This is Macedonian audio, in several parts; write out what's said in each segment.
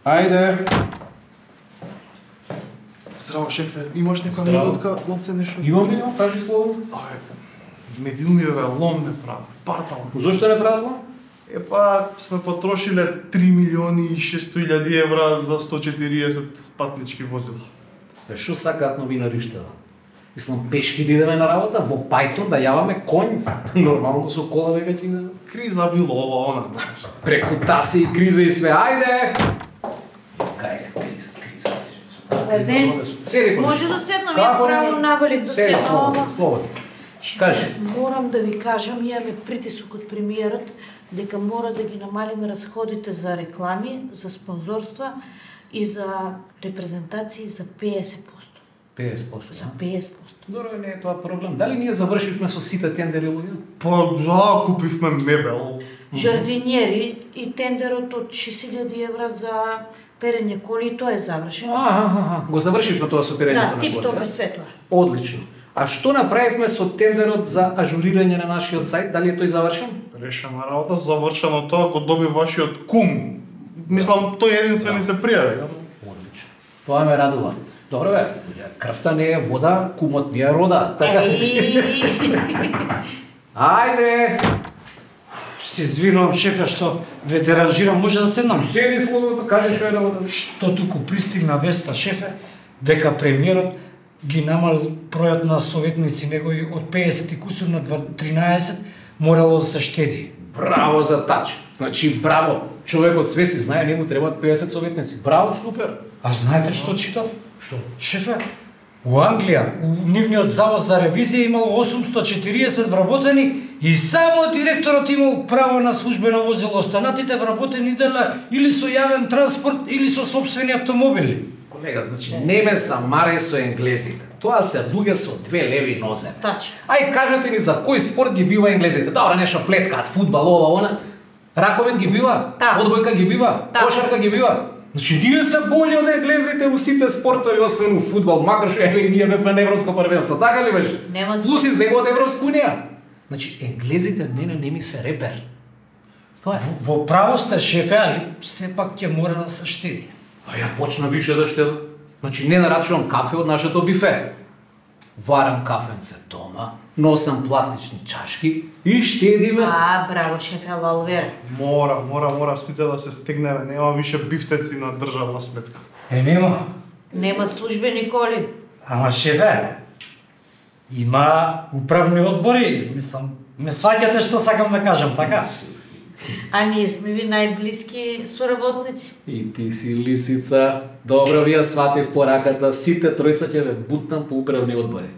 Ајде. Здраво, шефе, имаш некоја минутка, ломце нешто? Имам ли, кажи слово. Медилни бе, лом не прави, партал. Зошто не празно? Епа, сме потрошиле 3.600.000 евра за 140 патнички возила. Што сакаат новинариште? Мислам, пешки да идеме на работа, во Пајтон да јаваме конј. Нормално со кола веќе ќе идеме. Криза било ова, она. Преку таси и криза и све, ајде! Кај е криза? Седи, може да седнам, ја право навалив да седнам, ама... Слободно. Кажи. Морам да ви кажам, имаме притисок од премиерот дека мора да ги намалиме расходите за реклами, за спонзорства и за репрезентации за 50%. 50%. За 50%. Добро, не е тоа проблем. Дали ние завршивме со сите тендери луѓе? Па да, купивме мебел. Жардинјери и тендерот од 6.000 евра за перење коли, тоа е завршено. Го завршивме тоа со перењето на коли. Да, тип-топ е све тоа. Одлично. А што направивме со тендерот за ажурирање на нашиот сајт? Дали е тој завршен? Решена работа, завршено тоа, го доби вашиот кум. Мислам, тој единствен се пријави. Одлично. Тоа ме радува. Добро бе, крвта не е вода, кумот не е рода. Така. Ајде! Се извинувам, шефе, што ве деранжирам, може да седнам? Седи слободно, кажи што е работа. Што туку пристигна веста, шефе, дека премиерот ги намалил бројот на советници негови од 50 и кусур на 13, морало да се штеди. Браво за тач. Значи, браво. Човекот све си знае, не му требаат 50 советници. Браво, супер. А знаете што читав? Што? Шефе, у Англија, у нивниот завод за ревизија имало 840 вработени и само директорот имал право на службено возило. Останатите вработени дела или со јавен транспорт или со сопствени автомобили. Колега, значи, не ме замарај со енглезите. Тоа се луѓе со две леви нозе. Тачно. Ај кажете ни за кој спорт ги бива енглезите. Добро, нешто плеткаат, фудбал, ова, она. Раковет ги бива, одбојка ги бива, кошарка ги бива. Значи, ние се болји од енглезите у сите спортови, освен у фудбал, макар што ние бевме на европско првенство, така ли беше? Нема Луси излегува од Европска унија. Значи, енглезите не ми се репер. Тоа е. Во право сте, шефе, али сепак ќе мора да се штеди. А ја почна више да штеда. Значи, не нарачувам кафе од нашето бифе. Варам кафенце дома, носам пластични чашки и штедиме. Браво, шефе Лалвер. Мора сите да се стегнеме, нема више бифтеци на државна сметка. Нема. Нема службени коли. Ама шефе, има управни одбори, мислам, ме сваќате што сакам да кажам, така? А ние сме ви најблиски соработници. И ти си лисица. Добро ви ја сватив пораката, сите тројца ќе ве бутнам по управни одбори.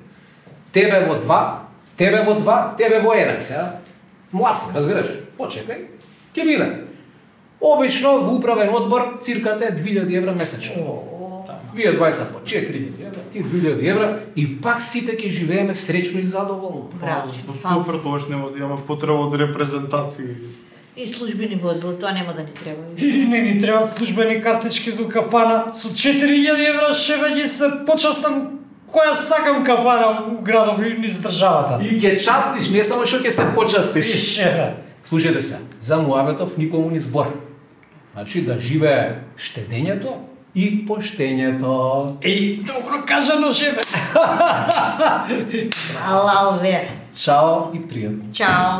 Тебе во 2, тебе во 2, тебе во 1, сега. Млад си, разбираш? Почекај, ќе биде. Обично во управен одбор цирката е 2000 евра месечно. Вие двајца по 4000 евра, ти 2000 евра и пак сите ќе живееме среќно и задоволно. Браво, Супер, тоаш нема да имаме потреба од репрезентации. И службени возила, тоа нема да ни треба. И не ни требаат службени картички за кафана. Со 4000 евра шефе ги се почастам која сакам кафана у градов и низ државата. И ќе частиш, не само што ќе се почастиш. И шефе. Слушајте се, за Муаветов никому ни збор. Значи да живее штедењето и поштењето. Еј, добро кажано, шефе. Лалвер. Чао и пријатно. Чао.